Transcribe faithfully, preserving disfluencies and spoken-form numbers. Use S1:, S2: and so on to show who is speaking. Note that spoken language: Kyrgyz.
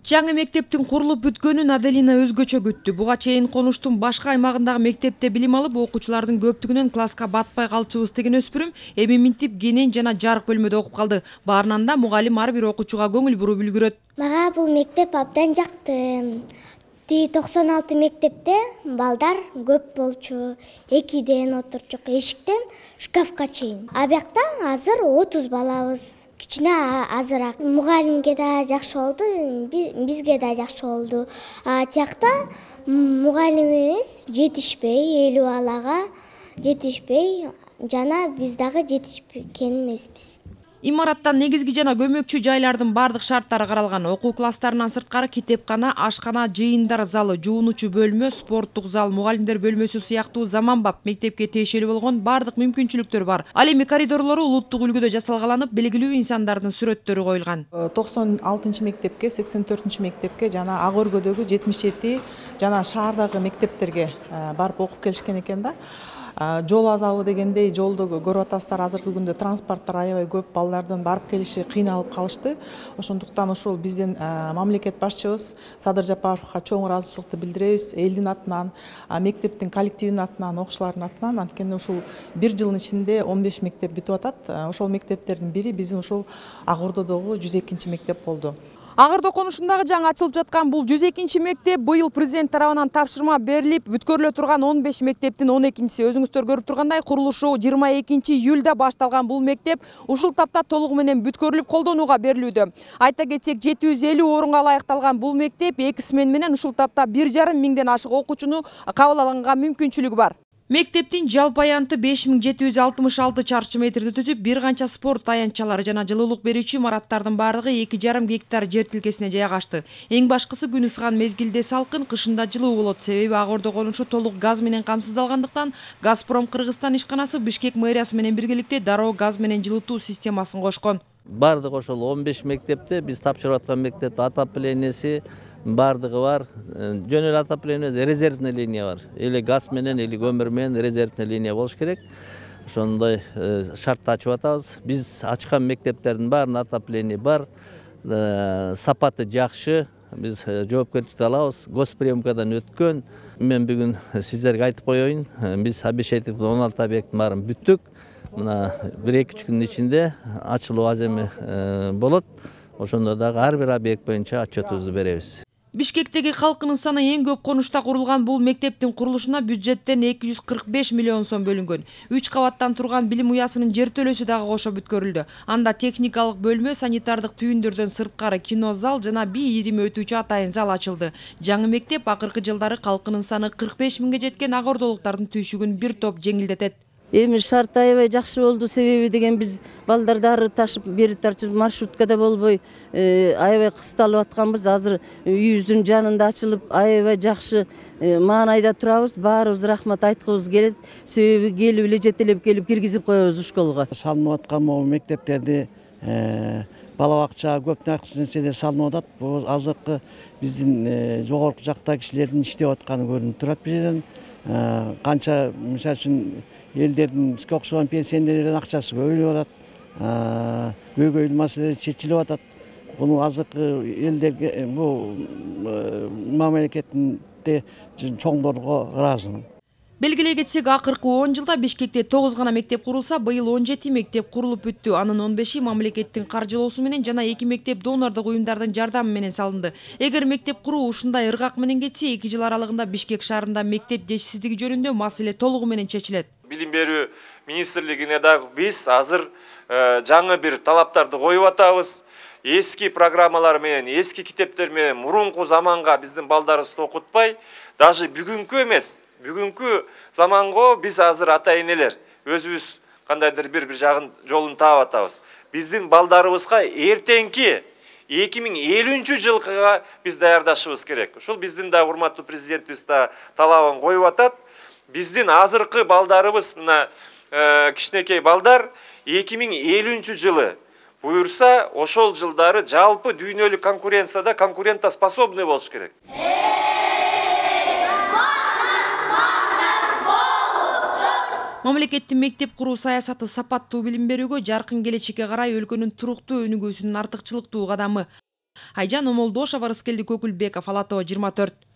S1: Жаңы мектептин курулуп бүткөнүн Аделина өзгөчө күттү. Буга чейин конуштун башка аймагындагы мектепте билим алып, окуучулардын көптүгүнөн класска батпай калчыбыз деген өспүрүм эми минтип кенен жана жарык бөлмөдө окуп калды. Баарынан да мугалим ар бир окуучуга көңүл буруп үлгүрөт.
S2: Мага бул мектеп абдан жакты. Ти токсон алты мектепте балдар көп болчу. Экиден отурчук, эшиктен шкафка чейин. А бакта азыр отуз балабыз. Кичине азыраак. Мугалимге да жакшы болду, бизге да жакшы болду. А тиякта мугалимибиз жетишпей, элүү балага жетишпей, жана биз дагы жетишкен эмеспиз.
S1: Имараттан негизги жана көмөкчү жайлардын бардык шарттары каралган. Окуу класстарынан сырткары китепкана, ашкана, жыйындар залы, жуунуучу бөлмө, спорттук зал, мугалимдер бөлмөсү сыяктуу заманбап мектепке тиешелүү болгон бардык мүмкүнчүлүктөр бар. Ал эми коридорлору улуттук үлгүдө жасалгаланып, белгилүү инсандардын сүрөттөрү коюлган.
S3: токсон алтынчы мектепке, сексен төртүнчү мектепке жана Ак Өргөдөгү жетимиш жети жана шаардагы мектептерге барып окуп келишкен экен да. Жол азабы дегендей жолду көрүп атасыздар, азыркы күндө транспорттор аябай көп, балдардын барып келиши кыйналып калышты. Ошондуктан ушул биздин мамлекет башчыбыз Садыр Жапаровго чоң ыраазычылыкты билдиребиз. Элдин атынан, мектептин коллективинин атынан, окуучулардын атынан. Анткени ушул бир жылдын ичинде он беш мектеп бүтүп атат. Ошол мектептердин бири биздин ушул Ак Ордодогу жүз экинчи мектеп болду.
S1: Ак Ордо конушундагы жаңы ачылып жаткан бул жүз экинчи мектеп быйыл президент тарабынан тапшырма берилип, бүткөрүлө турган он беш мектептин он экинчиси. Өзүңүздөр көрүп тургандай, курулушу жыйырма экинчи июлда башталган бул мектеп ушул тапта толугу менен бүткөрүлүп колдонууга берилүүдө. Айта кетсек, жети жүз элүү орунга ылайыкталган бул мектеп эки смен менен ушул тапта бир жарым миңден ашык окуучуну кабыл алганга мүмкүнчүлүгү бар. Мектептин жалпы аянты беш миң жети жүз алтымыш алты чарчы метрди түзүп, бир канча спорт аянтчалары жана жылуулук берүүчү имараттардын бардыгы эки жарым гектар жер тилкесине жайгашты. Эң башкысы күн ысыган мезгилде салкын, кышында жылуу болот. Себеби Ак Ордо конушу толук газ менен камсыздалгандыктан Газпром Кыргызстан ишканасы Бишкек мэриясы менен биргеликте дароо газ менен жылытуу системасын кошкон.
S4: Бардыгы ошол он беш мектепте биз тапшырып аткан мектеп отоплениеси бардыгы бар. Жөн эле отопление, резервный линия бар. Эле газ менен, эле көмүр менен резервный линия болуш керек. Ошондой шартты ачып атабыз. Биз ачкан мектептердин баарында отопление бар. Сапаты жакшы. Биз жоопкерчиликти алабыз. Госприемкадан өткөн. Мен бүгүн сиздерге айтып коеюн. Биз обещательный он алты объекттин баарын бүттүк. Мына бир-эки үч күндүн ичинде ачылуу аземи болот. Ошондо дагы ар бир объект боюнча отчетубузду беребиз.
S1: Бишкектеги халкынын саны эң көп конушта курулган бул мектептин курулушуна бюджеттен эки жүз кырк беш миллион сом бөлүнгөн. үч кабаттан турган билим уясынын жер төлөөсү дагы кошо бүткөрүлдү. Анда техникалык бөлмө, санитардык түйүндөрдөн сырткары кино зал жана бий ирим өтүүчү атайын зал ачылды. Жаңы мектеп акыркы жылдары халкынын саны кырк беш миңге жеткен ак ордолуктардын түйшүгүн бир топ жеңилдетет.
S5: Эми шарт аябай жакшы болду, себеби деген биз балдарды ары ташып бери тартып маршруткада болбой аябай кысталып атканбыз. Азыр үйүбүздүн жанында ачылып аябай жакшы маанайда турабыз. Баарыбыз рахмат айткыбыз келет. Себеби келип эле жетелеп келип киргизип коебуз школго.
S6: Салынып аткан могу мектептерди бала бакча көп нерселер салынып атат. Бул азыркы биздин жогорку жакта кишилердин иштеп атканы көрүнүп турат бул жерден. Канча мисалы үчүн элдердин бизге окшогон пенсионерлердин акчасы көбөйүп атат. Көйгөйлүү маселелер чечилип атат. Буну азыркы элдерге бул мамлекетте чоңдорго ыраазымын.
S1: Белгилей кетсек, акыркы он жылда Бишкекте тогуз гана мектеп курулса, быйыл он жети мектеп курулуп бүттү. Анын он беши мамлекеттин каржылоосу менен жана эки мектеп донордук уюмдардын жардамы менен салынды. Эгер мектеп куруу ушундай ыргак менен кетсе, эки жыл аралыгында Бишкек шаарында мектеп жетишсиздиги жөнүндө маселе толугу менен чечилет.
S7: Билим берүү министрлигине дагы биз азыр жаңы бир талаптарды коюп атабыз. Эски программалар менен, эски китептер менен мурунку заманга биздин балдарыбызды окутпай, даже бүгүнкү эмес, бүгүнкү заманго биз азыр ата-энелер өзүбүз кандайдыр бир бир жагын жолун таап атабыз. Биздин балдарыбызга эртеңки эки миң элүүнчү жылкыга биз даярдашыбыз керек. Ушул биздин да урматтуу президентибиз да талабын коюп атат. Биздин азыркы балдарыбыз, мына кичинекей балдар эки миң элүүнчү жылы буюрса, ошол жылдары жалпы дүйнөлүк конкуренцияда конкурентоспособный болуш керек.
S1: Мамлекеттин мектеп куруу саясаты сапаттуу билим берүүгө, жаркын келечекке карай өлкөнүн туруктуу өнүгүүсүнүн артыкчылыктуу кадамы. Айжан Омолдошова, Рыскелди Көкүлбеков, Ала Тоо жыйырма төрт.